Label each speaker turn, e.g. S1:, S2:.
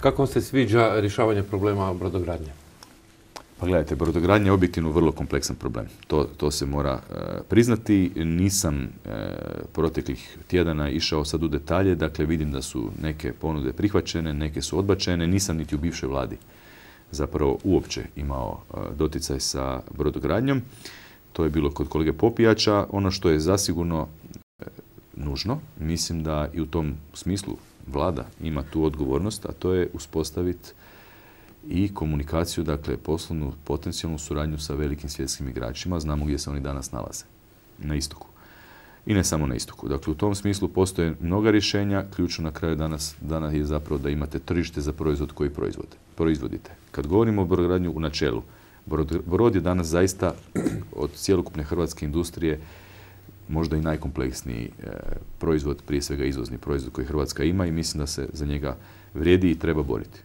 S1: Kako vam se sviđa rješavanje problema brodogradnje?
S2: Pa gledajte, brodogradnja je objektivno vrlo kompleksan problem. To se mora priznati. Nisam proteklih tjedana išao sad u detalje, dakle vidim da su neke ponude prihvaćene, neke su odbačene. Nisam niti u bivšoj vladi zapravo uopće imao doticaj sa brodogradnjom. To je bilo kod kolege Popijača. Ono što je zasigurno nužno, mislim da i u tom smislu vlada ima tu odgovornost, a to je uspostaviti i komunikaciju, dakle poslovnu, potencijalnu suradnju sa velikim svjetskim igračima. Znamo gdje se oni danas nalaze. Na istoku. I ne samo na istoku. Dakle, u tom smislu postoje mnoga rješenja. Ključno na kraju danas je zapravo da imate tržište za proizvod koji proizvodite. Kad govorimo o brodogradnju u načelu, brod je danas zaista od cjelokupne hrvatske industrije možda i najkompleksniji proizvod, prije svega izvozni proizvod koji Hrvatska ima i mislim da se za njega vrijedi i treba boriti.